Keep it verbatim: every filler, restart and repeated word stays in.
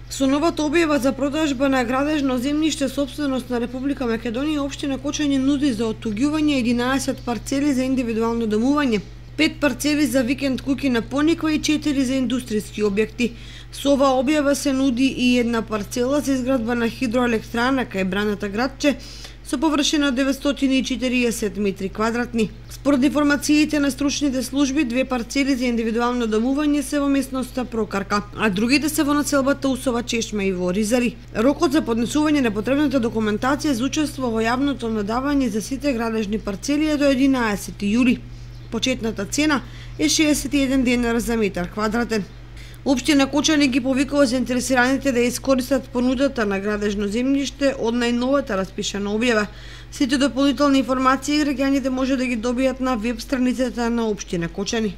Со новата објава за продажба на градежно земјиште сопственост на Република Македонија, општина Кочани нуди за оттуѓување единаесет парцели за индивидуално домување, пет парцели за викенд куќи на Пониква и четири за индустријски објекти. Со оваа објава се нуди и една парцела за изградба на хидроелектрана кај Браната градче со површина од деветстотини и четириесет метри квадратни. Според информациите на стручните служби, две парцели за индивидуално домување се во местноста Прокарка, а другите се во населбата Усова Чешма и во Ризари. Рокот за поднесување на потребната документација за учество во јавното надавање за сите градежни парцели е до единаесети јули. Почетната цена е шеесет и еден денар за метар квадратен. Општина Кочани ги повикува заинтересираните да искористат понудата на градежно земјиште од најновата распишана објава. Сите дополнителни информации граѓаните може да ги добијат на веб страницата на општина Кочани.